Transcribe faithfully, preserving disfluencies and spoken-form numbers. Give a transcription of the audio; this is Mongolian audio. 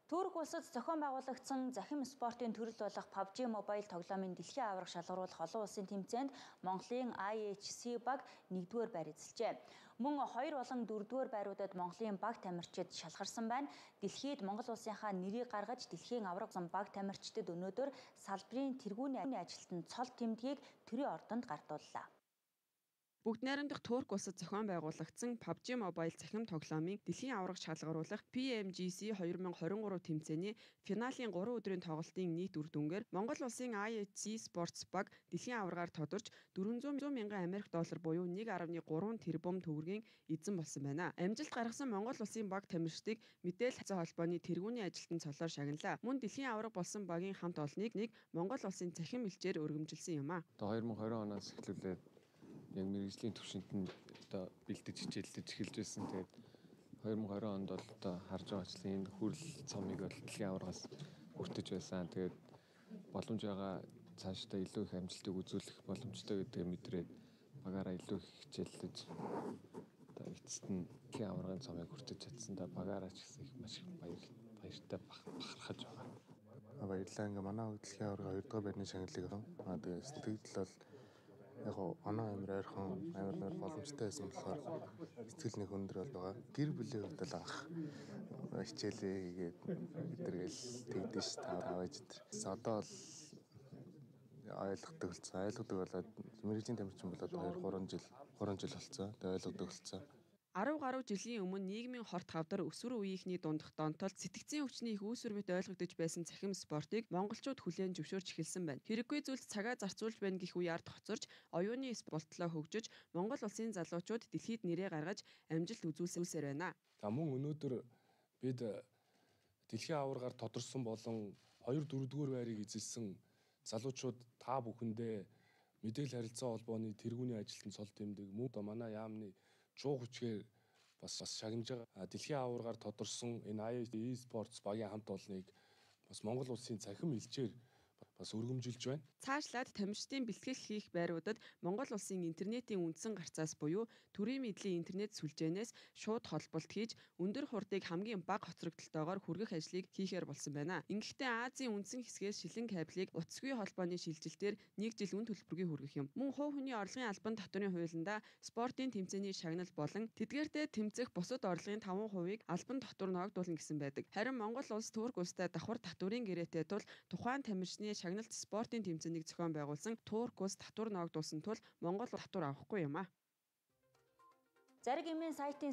Турк улсад зохион байгуулагдсан захим спортын төрөл болох пабжи Mobile тоглоомын дэлхийн аварга шалгаруулах олон улсын тэмцээнд Монголын ай эйч си баг нэгдүгээр байр эзэлжээ. Мөн хоёр болон дөрөвдүгээр байруудад Монголын баг тамирчид шалгарсан байна. Дэлхийд Монгол улсынхаа нэрийг гаргаж дэлхийн аварга зам баг тамирчдад өнөөдөр салбарын тэргүүний ажилтан цол тэмдгийг төрийн ордонд гартууллаа. Бүгд найрамдах Турк улсад зохион байгуулагдсан пабжи Mobile захим тоглоомын дэлхийн аварга шалгаруулах пи эм жи си хоёр мың хорин гурав тэмцээний финалийн гурван өдрийн тоглолтын нийт үр дүнгээр Монгол улсын ай эйч си Sports баг дэлхийн аваргаар тодорч дөрвөн зуун мянган Америк доллар буюу нэг гаруй гурван тэрбум төгрөгийн эзэн болсон байна. Амжилт гаргасан Монгол улсын баг тамирчдыг мэдээлэл хязгаа холбооны тэргүүний ажилтан цолоор шагналаа. Мөн дэлхийн аварга болсон багийн хамт олныг нэг Монгол улсын захим элчээр өргөмжилсөн юм а. Одоо хоёр мың хорин оноос эхлүүлээд яг мэргэжлийн түвшинд нь одоо бэлдэж хичээлдэж эхэлж байсан. Тэгээд хоёр мың хорин онд бол одоо харж байгаачлан энэ хүрэл цомыг бол дэлхийн аваргаас хүртэж байсан. Тэгээд боломж байгаа цаашдаа илүү их амжилтыг үзүүлэх боломжтой гэдгийг мэдрээд багаараа илүү их хичээлдэж одоо эцэст нь дэлхийн аваргын цомыг хүртэж чадсан. Да багаараа ч гэсэн их маш их баяр баяртай бахархаж байгаа. Баярлалаа. Ингээ манай дэлхийн аварга хоёр дахь байрны шагналыг авсан. Аа тэгээд сэтгэл бол яг оноо амир ойрхон амир нэр боломжтой байсан болохоор сэтгэл нэг өндөр бол байгаа. Гэр бүлийн хувьд л анх хичээлээ хийгээд өдргээл тэгдэж ш та аваач өдр. Одоо бол ойлгодог болсон. Ойлгодог болоод мэргэжлийн тамирчин болоод хоёр гурван жил гурван жил болсон. Тэгээд ойлгодог болсон. арав гаруй жилийн өмнө нийгмийн хорт хавдар өсвөр үеийнхний дундах донтолд сэтгцийн өвчний их үүсвэрмэт ойлгогдож байсан цахим спортыг монголчууд хүлээн зөвшөөрч эхэлсэн байна. Хэрэггүй зүйлд цагаа зарцуулж байна гэх үе ард хоцорч оюуны спортлоо хөгжиж Монгол улсын залуучууд дэлхийд нэрээ гаргаж амжилт үзүүлсээр байна. За мөн өнөөдөр бид дэлхийн аваргаар тодорсон болон хоёр дөрөвдүгээр байрыг эзэлсэн залуучууд та бүхэндээ мэдээлэл харилцаа холбооны тэргүүний ажилтан цол тэмдэг мөн одоо манай яамны чуу хүчгээр бас бас шагнаж байгаа. Дэлхийн аваргаар тодорсон энэ ай эйч си Sports багийн хамт олныг бас Монгол улсын цахим элчээр бас өргөмжилж байна. Цаашлаад тамирчдын бэлтгэл хийх байруудад Монгол улсын интернетийн үндсэн гарцаас буюу төрийн мэдлийн интернет сүлжээнээс шууд холболт хийж өндөр хурдыг хамгийн бага хоцрогдолтойгоор хүргэх ажлыг хийхээр болсон байна. Ингэхдээ Азийн үндсэн хэсгээс шилэн кабелийг утасгүй холбооны шилжилтээр нэг жил үн төлбөргүй хүргэх юм. Мөн хувь хүний орлогын албан татварын хуулиндаа спортын тэмцээний шагнал болон тэдгээртээ тэмцэх бусад орлогын таван хувийг албан татвар ногдуулна гэсэн байдаг. Харин Монгол улс Турк улстай давхар татварын гэрээтэй тул тухайн тамирчны шагналт спортын тэмцээнийг зохион байгуулсан Турк улс татвар ногдуулсан тул Монгол татвар авахгүй юм а. Зариг эмийн сайтын